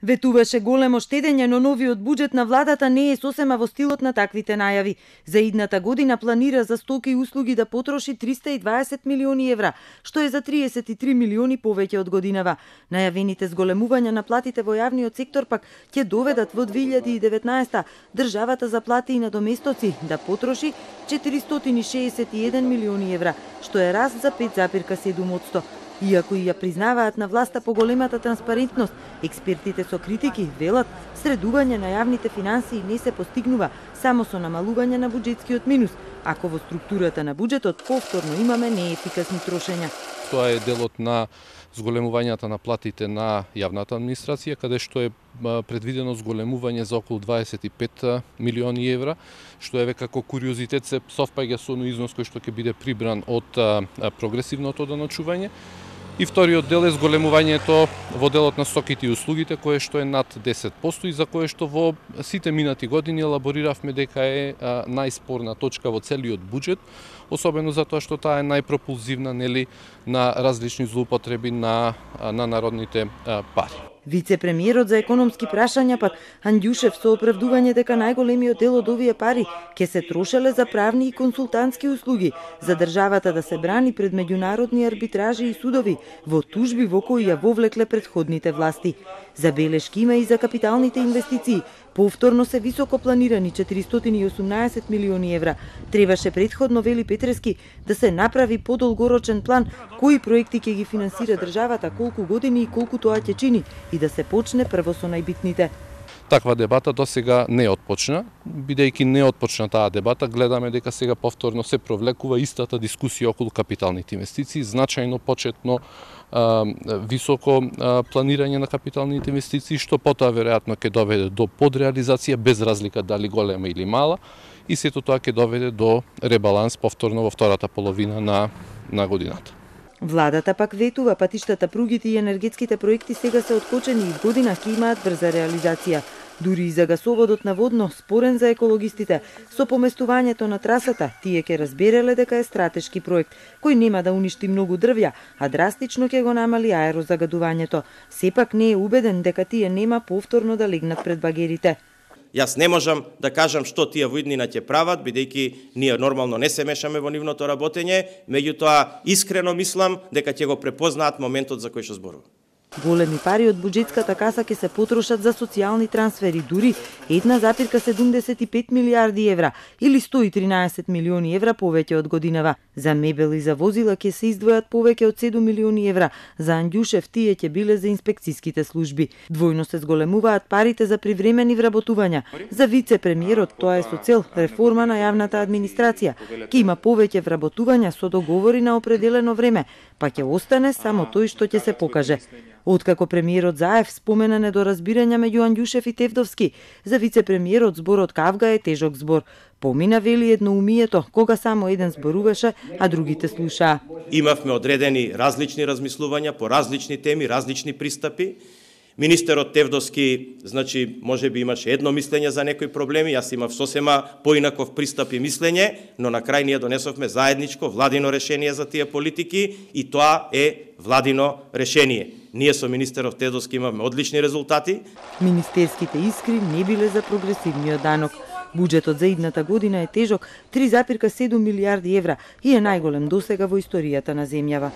Ветуваше големо штедење, но новиот буџет на владата не е сосема во стилот на таквите најави. За идната година планира за стоки и услуги да потроши 320 милиони евра, што е за 33 милиони повеќе од годинава. Најавените зголемувања на платите во јавниот сектор пак ќе доведат во 2019 државата за плати и надоместоци да потроши 461 милиони евра, што е раст за 5,7%. Иако и ја признаваат на власта поголемата транспарентност, експертите со критики велат средување на јавните финансии не се постигнува само со намалување на буџетскиот минус, ако во структурата на буџетот повторно имаме неефикасни трошења. Тоа е делот на зголемувањата на платите на јавната администрација, каде што е предвидено зголемување за околу 25 милиони евра, што е како куриозитет се совпаѓа со износ кој што ќе биде прибран од прогресивното даночување. И вториот дел е зголемувањето во делот на стоките и услугите, кое што е над 10% и за кое што во сите минати години елабориравме дека е најспорна точка во целиот буџет, особено затоа што таа е најпропулзивна на различни злоупотреби на народните пари. Вице-премиерот за економски прашања пак Андјушев со оправдување дека најголемиот дел од овие пари ќе се трошеле за правни и консултантски услуги, за државата да се брани пред меѓународни арбитражи и судови во тужби во кои ја вовлекле претходните власти. Забелешки има и за капиталните инвестиции. Повторно се високо планирани 418 милиони евра. Требаше предходно, вели Петрески, да се направи подолгорочен план кои проекти ќе ги финансира државата, колку години и колку тоа ќе чини, и да се почне прво со најбитните. Таква дебата досега не отпочна, бидејќи не отпочна таа дебата, гледаме дека сега повторно се провлекува истата дискусија околу капиталните инвестиции, значајно почетно високо планирање на капиталните инвестиции, што потоа веројатно ќе доведе до подреализација без разлика дали голема или мала, и сето тоа ќе доведе до ребаланс повторно во втората половина на годината. Владата пак ветува патиштата, пругите и енергетските проекти сега се откочени и година ќе имаат брза реализација. Дури и за гасоводот наводно, спорен за екологистите, со поместувањето на трасата, тие ќе разбереле дека е стратешки проект, кој нема да уништи многу дрвја, а драстично ќе го намали аерозагадувањето. Сепак не е убеден дека тие нема повторно да легнат пред багерите. Јас не можам да кажам што тие во иднина ќе прават, бидејќи ние нормално не се мешаме во нивното работење, меѓутоа искрено мислам дека ќе го препознаат моментот за кој што зборувам. Големи пари од буџетската каса ќе се потрошат за социјални трансфери, дури 1,75 милијарди евра или 113 милиони евра повеќе од годинава. За мебел и за возила ќе се издвојат повеќе од 7 милиони евра. За Андјушев тие ќе биле за инспекцијските служби. Двојно се зголемуваат парите за привремени вработувања. За вице-премиерот тоа е со цел реформа на јавната администрација. Ќе има повеќе вработувања со договори на определено време, па ќе остане само тој што ќе се покаже. Откако премиерот Заев спомена недоразбирања меѓу Андјушев и Тевдовски, за вице-премиерот зборот кавга е тежок збор. Помина, вели, едноумието, кога само еден зборуваше, а другите слушаа. Имавме одредени различни размислувања по различни теми, различни пристапи. Министерот Тевдовски, значи, можеби имаше едно мислење за некои проблеми, јас имав сосема поинаков пристап и мислење, но на крај ние донесовме заедничко владино решение за тие политики и тоа е владино решение. Ние со министерот Тевдовски имавме одлични резултати. Министерските искри не биле за прогресивниот данок. Буџетот за идната година е тежок 3,7 милијарди евра и е најголем досега во историјата на земјава.